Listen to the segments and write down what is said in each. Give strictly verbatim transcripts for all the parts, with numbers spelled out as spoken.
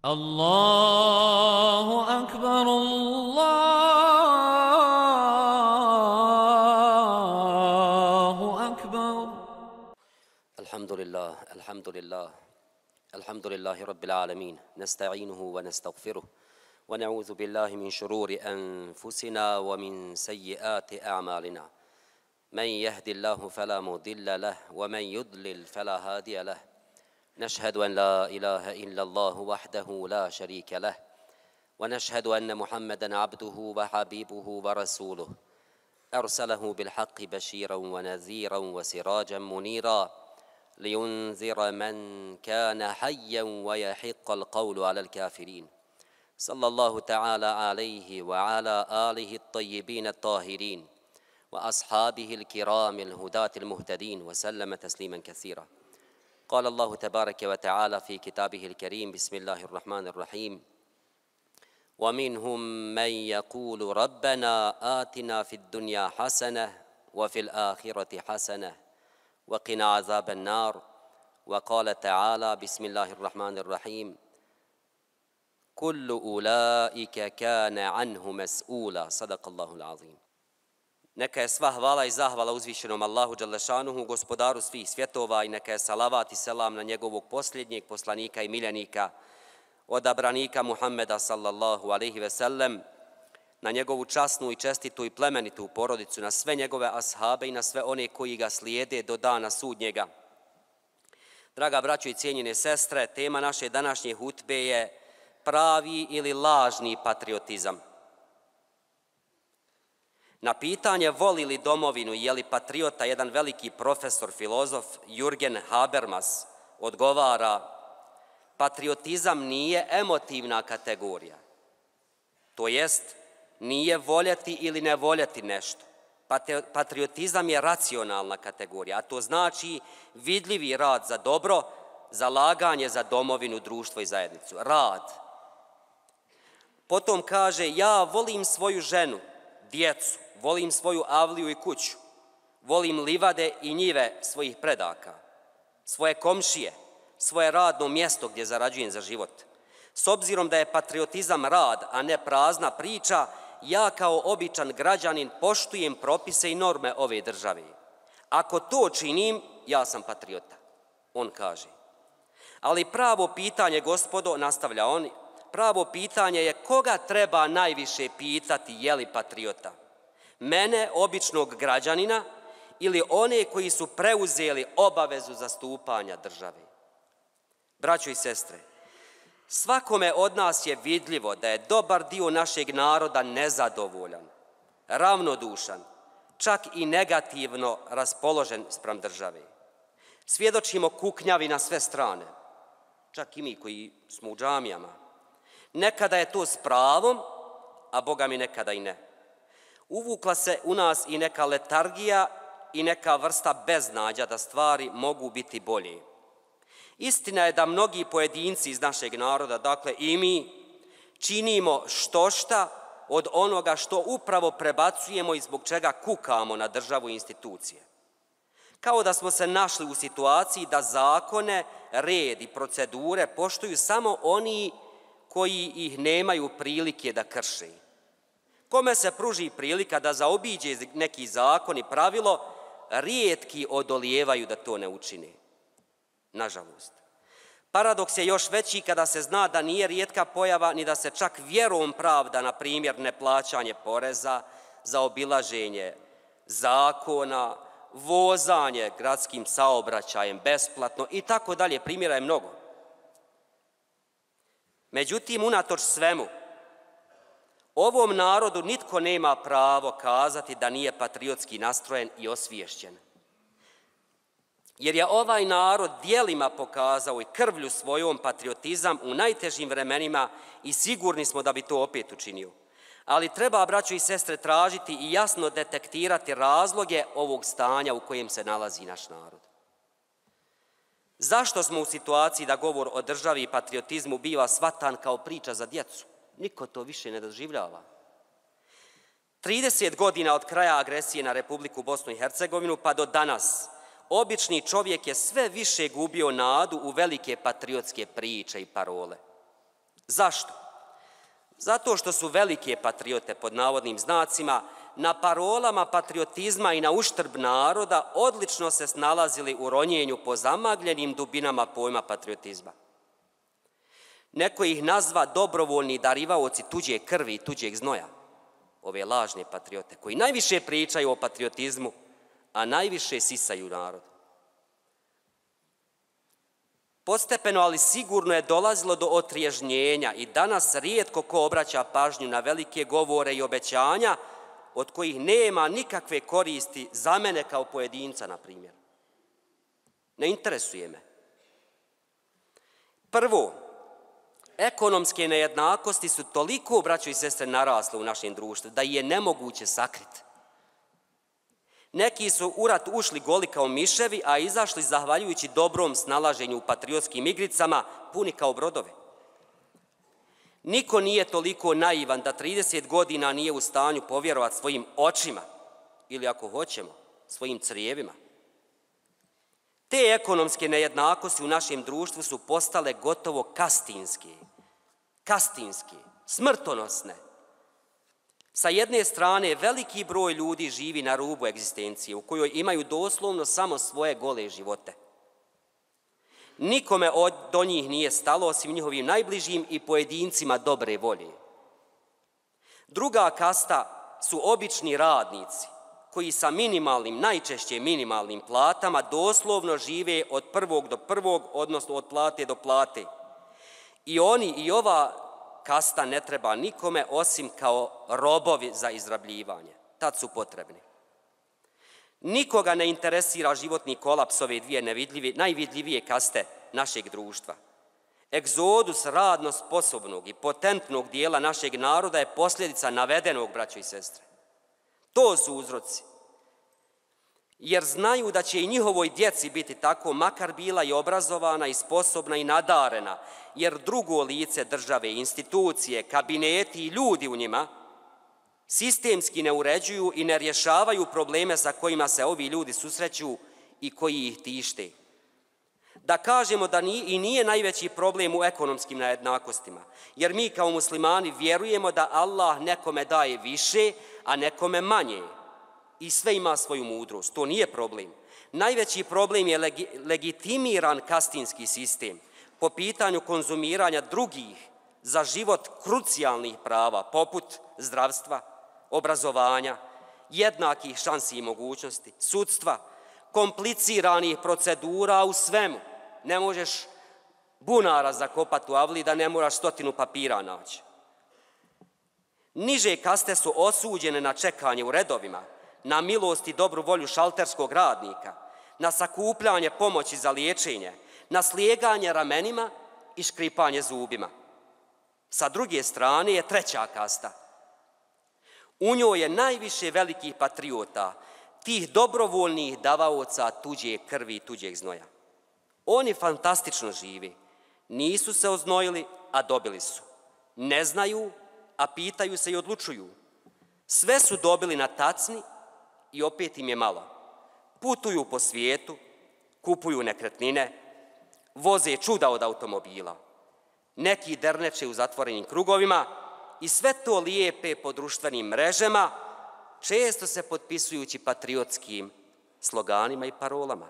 Allahu akbar, Allahu akbar. Alhamdulillah, alhamdulillah, alhamdulillahi rabbil alamin. Nasta'inuhu wa nastaghfiruh. Wa na'udhu billahi min shururi anfusina wa min sayyiati a'malina. Man yahdillahu fala mudilla lahu wa man yudlil fala hadiya lahu. نشهد أن لا إله إلا الله وحده لا شريك له ونشهد أن محمدًا عبده وحبيبه ورسوله أرسله بالحق بشيرًا ونذيرًا وسراجًا منيرًا لينذر من كان حيًّا ويحق القول على الكافرين صلى الله تعالى عليه وعلى آله الطيبين الطاهرين وأصحابه الكرام الهداة المهتدين وسلم تسليمًا كثيرًا. قال الله تبارك وتعالى في كتابه الكريم بسم الله الرحمن الرحيم ومنهم من يقول ربنا آتنا في الدنيا حسنة وفي الآخرة حسنة وقنا عذاب النار وقال تعالى بسم الله الرحمن الرحيم كل أولئك كان عنه مسؤولا صدق الله العظيم. Neka je sva hvala i zahvala uzvišenom Allahu Đalešanuhu, gospodaru svih svjetova, i neka je salavat i selam na njegovog posljednjeg poslanika i miljenika, odabranika Muhammeda sallallahu alejhi ve sellem, na njegovu časnu i čestitu i plemenitu porodicu, na sve njegove ashabe i na sve one koji ga slijede do dana sudnjega. Draga braćo i cijenjene sestre, tema naše današnje hutbe je pravi ili lažni patriotizam. Na pitanje voli li domovinu i je li patriota, jedan veliki profesor, filozof Jürgen Habermas odgovara: patriotizam nije emotivna kategorija. To jest, nije voljeti ili ne voljeti nešto. Patriotizam je racionalna kategorija, a to znači vidljivi rad za dobro, zalaganje za domovinu, društvo i zajednicu. Rad. Potom kaže: ja volim svoju ženu, djecu, volim svoju avliju i kuću, volim livade i njive svojih predaka, svoje komšije, svoje radno mjesto gdje zarađujem za život. S obzirom da je patriotizam rad, a ne prazna priča, ja kao običan građanin poštujem propise i norme ove države. Ako to činim, ja sam patriota, on kaže. Ali pravo pitanje, gospodo, nastavlja on, pravo pitanje je koga treba najviše pitati je li patriota? Mene, običnog građanina, ili one koji su preuzeli obavezu zastupanja države? Braćo i sestre, svakome od nas je vidljivo da je dobar dio našeg naroda nezadovoljan, ravnodušan, čak i negativno raspoložen spram države. Svjedočimo kuknjavi na sve strane, čak i mi koji smo u džamijama. Nekada je to s pravom, a Boga mi nekada i ne. Uvukla se u nas i neka letargija i neka vrsta beznađa da stvari mogu biti bolje. Istina je da mnogi pojedinci iz našeg naroda, dakle i mi, činimo štošta od onoga što upravo prebacujemo i zbog čega kukamo na državu i institucije. Kao da smo se našli u situaciji da zakone, red i procedure poštuju samo oni koji ih nemaju prilike da krše. Kome se pruži prilika da zaobiđe neki zakon i pravilo, rijetki odolijevaju da to ne učine. Nažalost. Paradoks je još veći kada se zna da nije rijetka pojava ni da se čak vjerom pravda, na primjer, neplaćanje poreza, zaobilaženje zakona, vozanje gradskim saobraćajem besplatno i tako dalje. Primjera je mnogo. Međutim, unatoč svemu, ovom narodu nitko nema pravo kazati da nije patriotski nastrojen i osviješćen. Jer je ovaj narod djelima pokazao i krvlju svojom patriotizam u najtežim vremenima i sigurni smo da bi to opet učinio. Ali treba, braćo i sestre, tražiti i jasno detektirati razloge ovog stanja u kojem se nalazi naš narod. Zašto smo u situaciji da govor o državi i patriotizmu biva shvatan kao priča za djecu? Niko to više ne doživljava. trideset godina od kraja agresije na Republiku Bosnu i Hercegovinu pa do danas, obični čovjek je sve više gubio nadu u velike patriotske priče i parole. Zašto? Zato što su velike patriote, pod navodnim znacima, na parolama patriotizma i na uštrb naroda odlično se snalazili u ronjenju po zamagljenim dubinama pojma patriotizma. Neko ih nazva dobrovoljni darivaoci tuđe krvi i tuđeg znoja, ove lažne patriote, koji najviše pričaju o patriotizmu, a najviše sisaju narod. Postepeno, ali sigurno je dolazilo do otriježnjenja i danas rijetko ko obraća pažnju na velike govore i obećanja od kojih nema nikakve koristi za mene kao pojedinca, na primjer. Ne interesuje me. Prvo, ekonomske nejednakosti su toliko, braćo i sestre, narasle u našem društvu da je nemoguće sakriti. Neki su u rat ušli goli kao miševi, a izašli zahvaljujući dobrom snalaženju u patriotskim igricama, puni kao brodovi. Niko nije toliko naivan da trideset godina nije u stanju povjerovati svojim očima ili, ako hoćemo, svojim crijevima. Te ekonomske nejednakosti u našem društvu su postale gotovo kastinske, kastinske, smrtonosne. Sa jedne strane, veliki broj ljudi živi na rubu egzistencije, u kojoj imaju doslovno samo svoje gole živote. Nikome od, do njih nije stalo, osim njihovim najbližim i pojedincima dobre volje. Druga kasta su obični radnici, koji sa minimalnim, najčešće minimalnim platama doslovno žive od prvog do prvog, odnosno od plate do plate. I oni i ova kasta ne treba nikome osim kao robovi za izrabljivanje. Tad su potrebni. Nikoga ne interesira životni kolaps ove dvije nevidljive, najvidljivije kaste našeg društva. Egzodus radno sposobnog i potentnog dijela našeg naroda je posljedica navedenog, braćo i sestre. To su uzroci. Jer znaju da će i njihovoj djeci biti tako, makar bila i obrazovana i sposobna i nadarena, jer drugo lice države, institucije, kabineti i ljudi u njima sistemski ne uređuju i ne rješavaju probleme sa kojima se ovi ljudi susreću i koji ih tište. Da kažemo da nije, i nije najveći problem u ekonomskim nejednakostima, jer mi kao muslimani vjerujemo da Allah nekome daje više, a nekome manje. I sve ima svoju mudrost, to nije problem. Najveći problem je legi, legitimiran kastinski sistem po pitanju konzumiranja drugih za život krucijalnih prava, poput zdravstva, obrazovanja, jednakih šansi i mogućnosti, sudstva, kompliciranih procedura u svemu. Ne možeš bunara zakopati u avli da ne moraš stotinu papira naći. Niže kaste su osuđene na čekanje u redovima, na milost i dobru volju šalterskog radnika, na sakupljanje pomoći za liječenje, na slijeganje ramenima i škripanje zubima. Sa druge strane je treća kasta. U njoj je najviše velikih patriota, tih dobrovoljnih davaoca tuđe krvi i tuđeg znoja. Oni fantastično živi, nisu se oznojili, a dobili su. Ne znaju, a pitaju se i odlučuju. Sve su dobili na tacni i opet im je malo. Putuju po svijetu, kupuju nekretnine, voze čuda od automobila. Neki derneče u zatvorenim krugovima i sve to lijepe po društvenim mrežama, često se potpisujući patriotskim sloganima i parolama.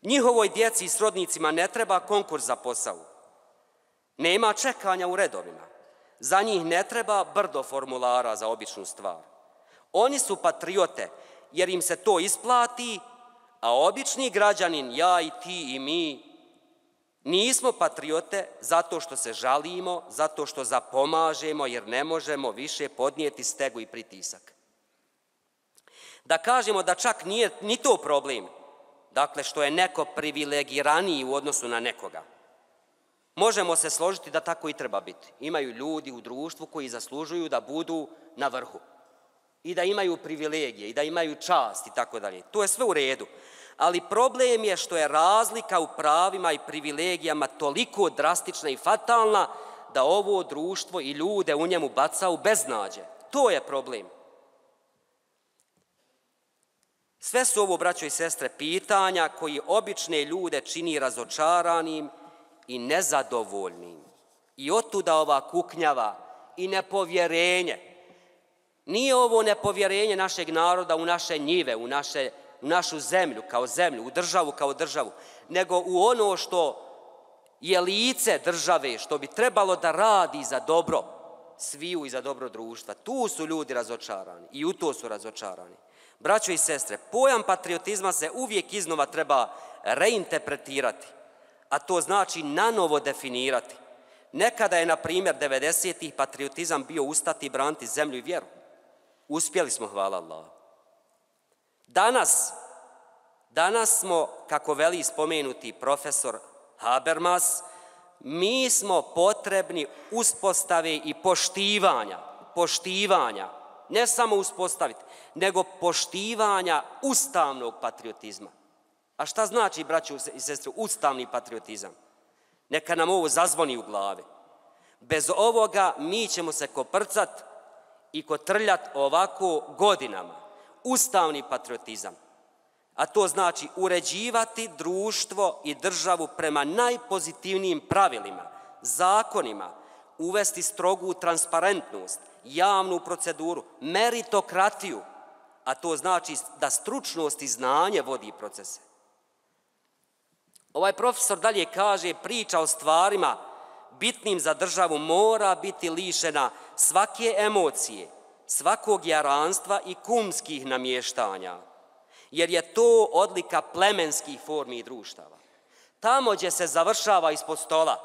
Njihovoj djeci i srodnicima ne treba konkurs za posao. Nema čekanja u redovima. Za njih ne treba brdo formulara za običnu stvar. Oni su patriote jer im se to isplati, a obični građanin, ja i ti i mi, nismo patriote zato što se žalimo, zato što zapomažemo jer ne možemo više podnijeti stegu i pritisak. Da kažemo da čak nije ni to problem, dakle što je neko privilegiraniji u odnosu na nekoga. Možemo se složiti da tako i treba biti. Imaju ljudi u društvu koji zaslužuju da budu na vrhu i da imaju privilegije i da imaju čast i tako dalje. To je sve u redu. Ali problem je što je razlika u pravima i privilegijama toliko drastična i fatalna da ovo društvo i ljude u njemu baca u beznađe. To je problem. Sve su ovo, braćo i sestre, pitanja koji obične ljude čini razočaranim i nezadovoljnim, I otuda ova kuknjava i nepovjerenje. Nije ovo nepovjerenje našeg naroda u naše njive, u, naše, u našu zemlju kao zemlju, u državu kao državu, nego u ono što je lice države, što bi trebalo da radi za dobro sviju i za dobro društva. Tu su ljudi razočarani i u to su razočarani. Braćo i sestre, pojam patriotizma se uvijek iznova treba reinterpretirati, a to znači nanovo definirati. Nekada je, na primjer, devedesetih patriotizam bio ustati i braniti zemlju i vjeru. Uspjeli smo, hvala Allah. Danas, danas smo, kako veli spomenuti profesor Habermas, mi smo potrebni uspostave i poštivanja, poštivanja, ne samo uspostaviti, nego poštivanja ustavnog patriotizma. A šta znači, braćo i sestre, ustavni patriotizam? Neka nam ovo zazvoni u glavi. Bez ovoga mi ćemo se koprcat i kotrljat ovako godinama. Ustavni patriotizam. A to znači uređivati društvo i državu prema najpozitivnijim pravilima, zakonima, uvesti strogu transparentnost, javnu proceduru, meritokratiju, a to znači da stručnost i znanje vodi procese. Ovaj profesor dalje kaže, priča o stvarima bitnim za državu mora biti lišena svake emocije, svakog jaranstva i kumskih namještanja, jer je to odlika plemenskih formi i društava. Tamo gdje se završava ispod stola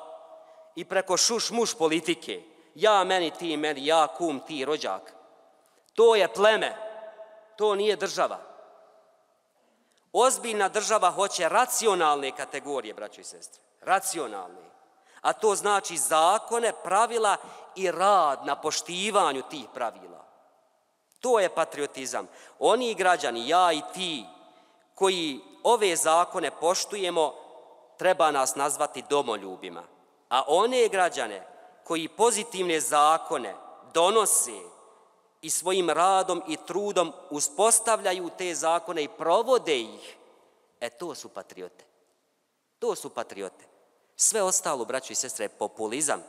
i preko šuš-muš politike, ja meni, ti meni, ja kum, ti rođak, to je pleme, to nije država. Ozbiljna država hoće racionalne kategorije, braćo i sestre, racionalne. A to znači zakone, pravila i rad na poštivanju tih pravila. To je patriotizam. Oni građani, ja i ti, koji ove zakone poštujemo, treba nas nazvati domoljubima. A one građane koji pozitivne zakone donose i svojim radom i trudom uspostavljaju te zakone i provode ih, e to su patriote. To su patriote. Sve ostalo, braćo i sestre, je populizam.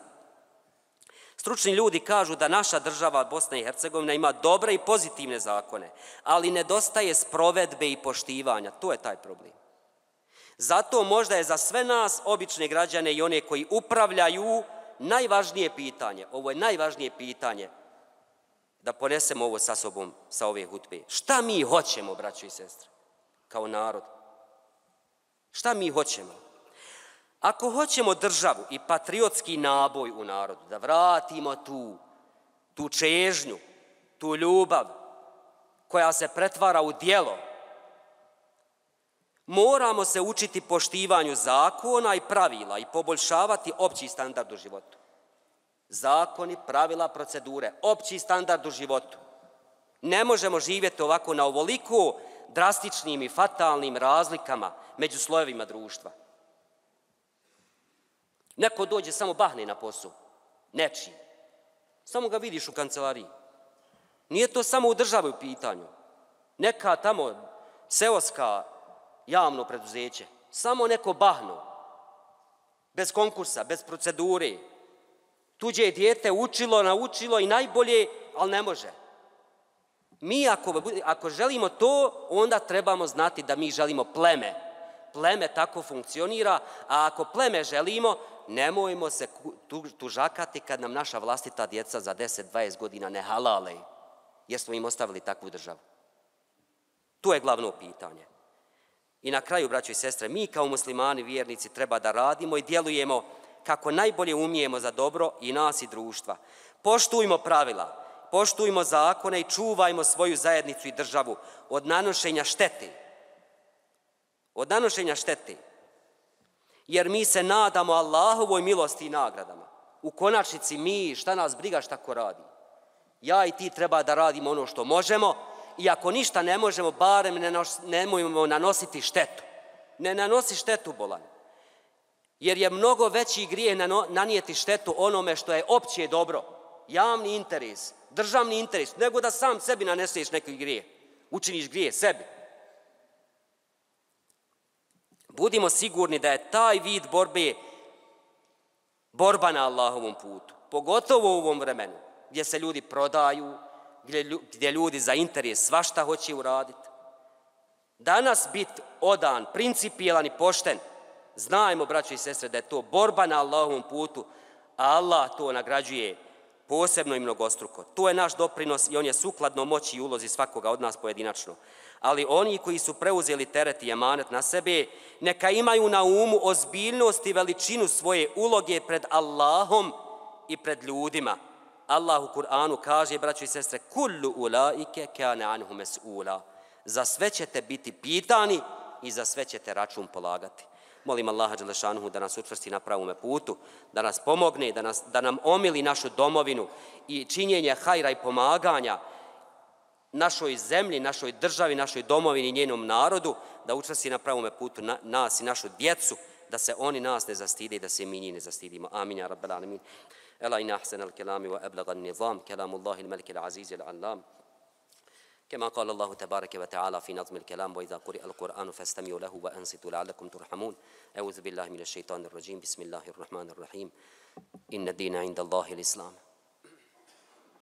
Stručni ljudi kažu da naša država Bosna i Hercegovina ima dobre i pozitivne zakone, ali nedostaje sprovedbe i poštivanja. To je taj problem. Zato možda je za sve nas, obične građane i one koji upravljaju, najvažnije pitanje, ovo je najvažnije pitanje, da ponesemo ovo sa sobom sa ove hutbe. Šta mi hoćemo, braćo i sestre, kao narod? Šta mi hoćemo? Ako hoćemo državu i patriotski naboj u narodu, da vratimo tu, tu čežnju, tu ljubav koja se pretvara u djelo, moramo se učiti poštivanju zakona i pravila i poboljšavati opći standard u životu. Zakoni, pravila, procedure, opći standard u životu. Ne možemo živjeti ovako na ovoliko drastičnim i fatalnim razlikama među slojevima društva. Neko dođe, samo bahne na posao, nečiji. Samo ga vidiš u kancelariji. Nije to samo u državi u pitanju. Neka tamo seoska javno preduzeće, samo neko bahno, bez konkursa, bez procedure. Tuđe je dijete učilo, naučilo i najbolje, ali ne može. Mi ako, ako želimo to, onda trebamo znati da mi želimo pleme. Pleme tako funkcionira, a ako pleme želimo, nemojmo se tužakati kad nam naša vlastita djeca za deset dvadeset godina ne halale, jer smo im ostavili takvu državu. To je glavno pitanje. I na kraju, braćo i sestre, mi kao muslimani, vjernici, treba da radimo i djelujemo kako najbolje umijemo za dobro i nas i društva. Poštujmo pravila, poštujmo zakone i čuvajmo svoju zajednicu i državu od nanošenja štete. Od nanošenja štete. Jer mi se nadamo Allahovoj milosti i nagradama. U konačnici mi, šta nas briga šta ko radi. Ja i ti treba da radimo ono što možemo i ako ništa ne možemo, barem ne nos, nemojmo nanositi štetu. Ne nanosi štetu, bolan. Jer je mnogo veći grijeh nanijeti štetu onome što je opće dobro, javni interes, državni interes, nego da sam sebi naneseš neki grijeh, učiniš grijeh sebi. Budimo sigurni da je taj vid borbe borba na Allahovom putu, pogotovo u ovom vremenu gdje se ljudi prodaju, gdje, gdje ljudi za interes svašta hoće uraditi. Danas biti odan, principijelan i pošten, znajmo, braćo i sestre, da je to borba na Allahovom putu, a Allah to nagrađuje posebno i mnogostruko. To je naš doprinos i on je sukladno moći i ulozi svakoga od nas pojedinačno. Ali oni koji su preuzeli teret i emanet na sebe, neka imaju na umu ozbiljnost i veličinu svoje uloge pred Allahom i pred ljudima. Allah u Kur'anu kaže, braćo i sestre, kullu ulaike kane anhu mes'ula. Za sve ćete biti pitani i za sve ćete račun polagati. Molim Allaha dželešanuhu da nas učvrsti na pravome putu, da nas pomogne, da, nas, da nam omili našu domovinu i činjenje hajra i pomaganja našoj zemlji, našoj državi, našoj domovini i njenom narodu, da učvrsti na pravome putu na, nas i našu djecu, da se oni nas ne zastide i da se mi njih ne zastidimo. Amin, ja rabbal alamin. Ela in ahsana al-kalami wa ablaga an-nizam, kalamullahi al-malik al-aziz al-allam. كما قال الله تبارك وتعالى في نظم الكلام وإذا قرئ القرآن فاستمعوا له وأنصتوا لعلكم ترحمون أعوذ بالله من الشيطان الرجيم بسم الله الرحمن الرحيم إن الدين عند الله الإسلام